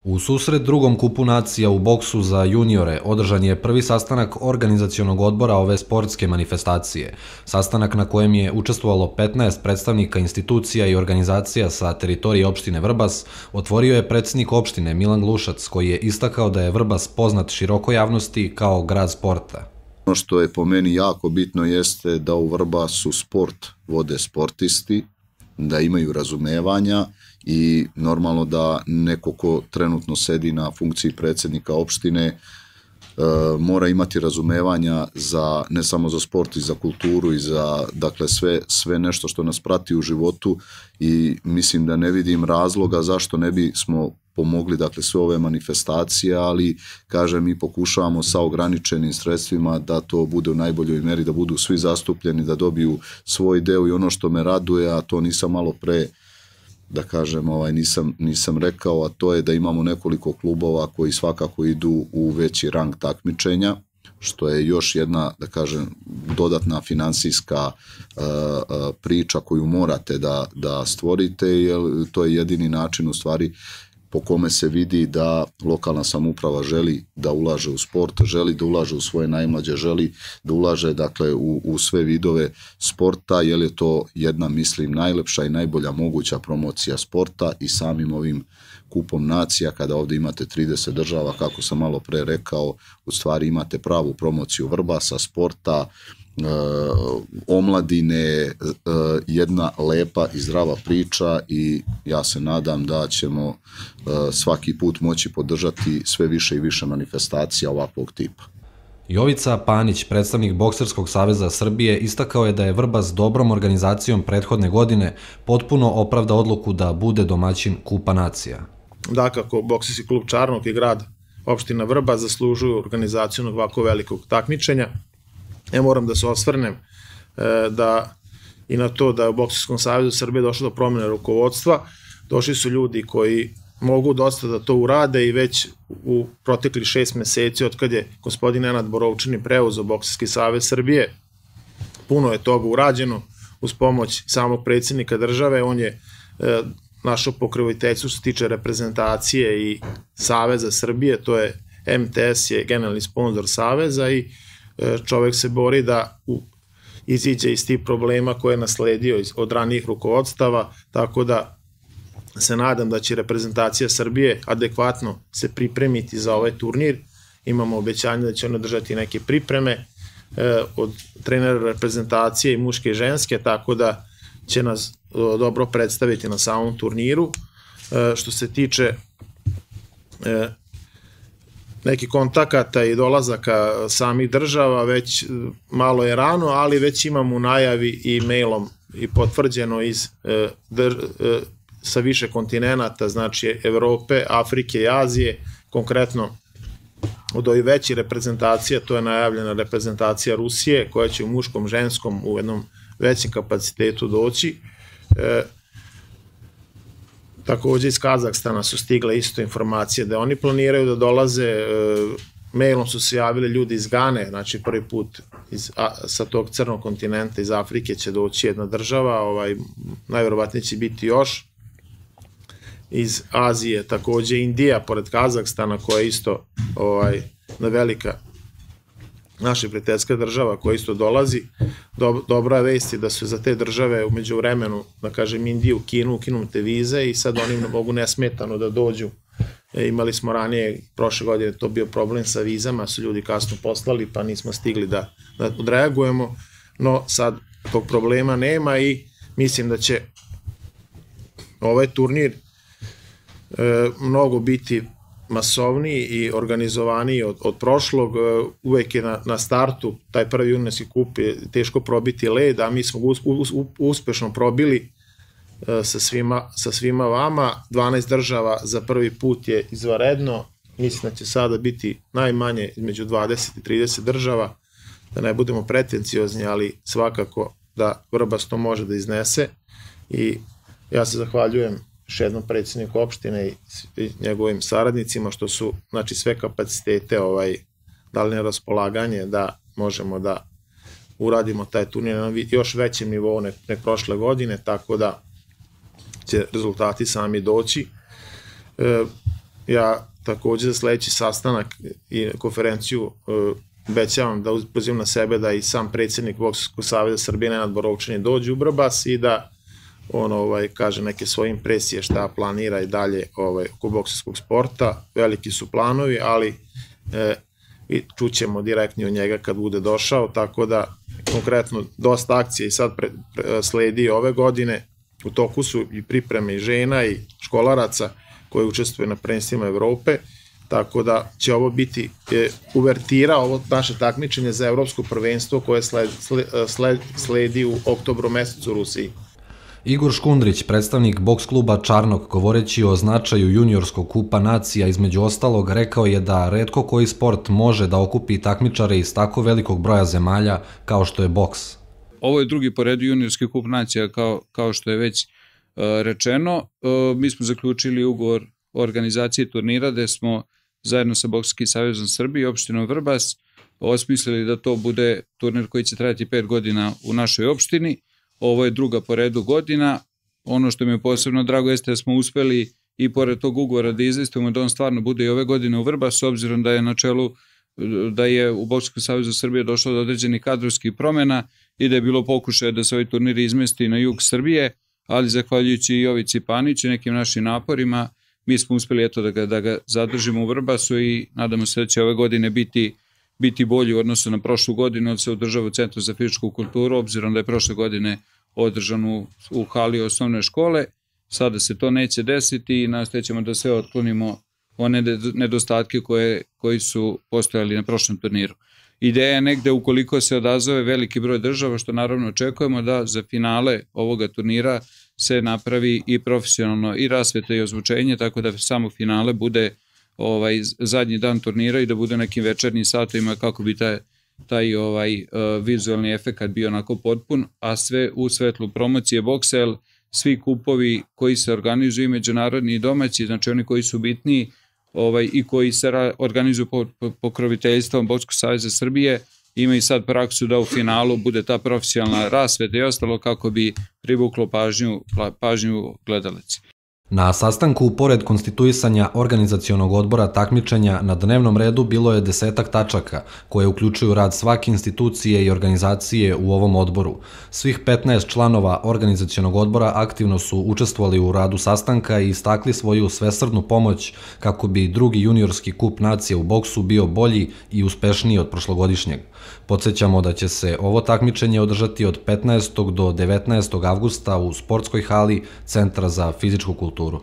U susret drugom kupu nacija u boksu za juniore održan je prvi sastanak organizacionog odbora ove sportske manifestacije. Sastanak na kojem je učestvovalo 15 predstavnika institucija i organizacija sa teritorije opštine Vrbas otvorio je predsjednik opštine Milan Glušac, koji je istakao da je Vrbas poznat širokoj javnosti kao grad sporta. Ono što je po meni jako bitno jeste da u Vrbasu sport vode sportisti, da imaju razumevanja i normalno da neko ko trenutno sedi na funkciji predsjednika opštine mora imati razumevanja za, ne samo za sport i za kulturu i za, dakle, sve nešto što nas prati u životu, i mislim da ne vidim razloga zašto ne bi smo pomogli, dakle, sve ove manifestacije, ali kažem, mi pokušavamo sa ograničenim sredstvima da to bude u najboljoj meri, da budu svi zastupljeni, da dobiju svoj deo. I ono što me raduje, a to nisam malo pre, da kažem, nisam rekao, a to je da imamo nekoliko klubova koji svakako idu u veći rang takmičenja, što je još jedna, da kažem, dodatna finansijska priča koju morate da stvorite, jer to je jedini način u stvari po kome se vidi da lokalna samouprava želi da ulaže u sport, želi da ulaže u svoje najmlađe, želi da ulaže, dakle, u sve vidove sporta, jer je to jedna, mislim, najlepša i najbolja moguća promocija sporta. I samim ovim kupom nacija, kada ovdje imate 30 država, kako sam malo pre rekao, u stvari imate pravu promociju Vrbasa, sporta, omladine, jedna lepa i zdrava priča, i ja se nadam da ćemo svaki put moći podržati sve više i više manifestacija ovakvog tipa. Jovica Panić, predstavnik Bokserskog saveza Srbije, istakao je da je Vrbas dobrom organizacijom prethodne godine potpuno opravda odluku da bude domaćin Kupa nacija. Dakako, Bokserski klub Čarnok i grad opština Vrbas zaslužuju organizaciju ovako velikog takmičenja. Ja moram da se osvrnem i na to da je u Bokserskom savezu Srbije došlo do promjene rukovodstva. Došli su ljudi koji mogu dosta da to urade, i već u proteklih 6 meseci od kad je gospodin Nenad Borovčani preuzeo Bokserski savez Srbije, puno je toga urađeno uz pomoć samog predsjednika države. On je našo pokroviteljstvo što se tiče reprezentacije i Saveza Srbije, to je MTS je generalni sponsor saveza, i čovek se bori da iziđe iz tih problema koje je nasledio od ranijih rukovodstava, tako da se nadam da će reprezentacija Srbije adekvatno se pripremiti za ovaj turnir. Imamo obećanje da će oni držati neke pripreme od trenera reprezentacije i muške i ženske, tako da će nas dobro predstaviti na samom turniru. Što se tiče nekih kontakata i dolazaka samih država, već malo je rano, ali već imamo u najavi i mailom i potvrđeno sa više kontinenata, znači Evrope, Afrike i Azije, konkretno od ovih većih reprezentacija, to je najavljena reprezentacija Rusije, koja će u muškom, ženskom u jednom većem kapacitetu doći. Takođe iz Kazahstana su stigle isto informacije da oni planiraju da dolaze, mailom su se javili ljudi iz Gane, znači prvi put sa tog crnog kontinenta, iz Afrike će doći jedna država, najverovatnije će biti još. Iz Azije takođe Indija, pored Kazahstana, koja je isto velika naša prijateljska država koja isto dolazi. Dobra vest je da su za te države umeđu vremenu, da kažem, Indiju, Kinu, ukinute vize, i sad oni mogu nesmetano da dođu. Imali smo ranije, prošle godine, to bio problem sa vizama, su ljudi kasno poslali, pa nismo stigli da odreagujemo, no sad tog problema nema, i mislim da će ovaj turnir mnogo biti masovniji i organizovaniji od prošlog. Uvek je na startu taj prvi juniorski kup je teško probiti led, a mi smo uspešno probili sa svima vama. 12 država za prvi put je izvanredno, mislim da će sada biti najmanje između 20 i 30 država, da ne budemo pretenciozni, ali svakako da Vrbas to može da iznese. I ja se zahvaljujem još jednom predsjedniku opštine i njegovim saradnicima što su, znači, sve kapacitete dali na raspolaganje da možemo da uradimo taj turnir na još većem nivou nek prošle godine, tako da će rezultati sami doći. ja takođe za sledeći sastanak i konferenciju obećavam da pozivam na sebe da i sam predsjednik Bokserskog saveza Srbije Nenad Borovčanin dođe u Vrbas i da on kaže neke svoje impresije šta planira i dalje oko bokserskog sporta. Veliki su planovi, ali čućemo direktno od njega kad bude došao, tako da konkretno dosta akcija i sad sledi ove godine. U toku su i pripreme i žena i školaraca koji učestvuju na prvenstvima Evrope, tako da će ovo biti uvertira, ovo naše takmičenje za evropsko prvenstvo koje sledi u oktobru mesecu u Rusiji. Igor Škundrić, predstavnik boks kluba Čarnok, govoreći o značaju juniorskog kupa nacija, između ostalog, rekao je da retko koji sport može da okupi takmičare iz tako velikog broja zemalja kao što je boks. Ovo je drugi po redu juniorski kup nacija, kao što je već rečeno. Mi smo zaključili ugovor o organizaciji turnira gde smo zajedno sa Bokserskim savezom Srbije i opštinom Vrbas osmislili da to bude turnir koji će trajati 5 godina u našoj opštini. Ovo je druga po redu godina. Ono što mi je posebno drago jeste da smo uspeli i pored tog ugovora da izvestimo da on stvarno bude i ove godine u Vrbas, s obzirom da je na čelu, da je u Bokserskom savezu Srbije došlo do određenih kadrovskih promena i da je bilo pokušaja da se ovaj turnir izmesti na jug Srbije, ali zahvaljujući i Jovici Paniću i nekim našim naporima, mi smo uspeli da ga zadržimo u Vrbasu i nadamo se da će ove godine biti bolji u odnosu na prošlu godinu, da se održava u Centru za fizičku kulturu, obzirom da je prošle godine održan u hali osnovne škole. Sada se to neće desiti i nastojećemo da sve otklonimo one nedostatke koji su postojali na prošlom turniru. Ideja je negde, ukoliko se odazove veliki broj država, što naravno očekujemo, da za finale ovoga turnira se napravi i profesionalno i rasveta i ozvučenje, tako da samo finale bude zadnji dan turnira i da bude nekim večernjim satovima kako bi taj vizualni efekt bio onako potpun, a sve u svetlu promocije boksa, jer svi kupovi koji se organizuju i međunarodni i domaći, znači oni koji su bitniji i koji se organizuju pod pokroviteljstvom Bokserskog saveza Srbije, imaju sad praksu da u finalu bude ta profesionalna rasveta i ostalo kako bi privuklo pažnju gledalaca. Na sastanku, pored konstituisanja organizacionog odbora takmičenja, na dnevnom redu bilo je 10 tačaka koje uključuju rad svake institucije i organizacije u ovom odboru. Svih 15 članova organizacionog odbora aktivno su učestvovali u radu sastanka i istakli svoju svesrdnu pomoć kako bi drugi juniorski kup nacije u boksu bio bolji i uspešniji od prošlogodišnjeg. Podsjećamo da će se ovo takmičenje održati od 15. do 19. avgusta u sportskoj hali Centra za fizičku kulturu.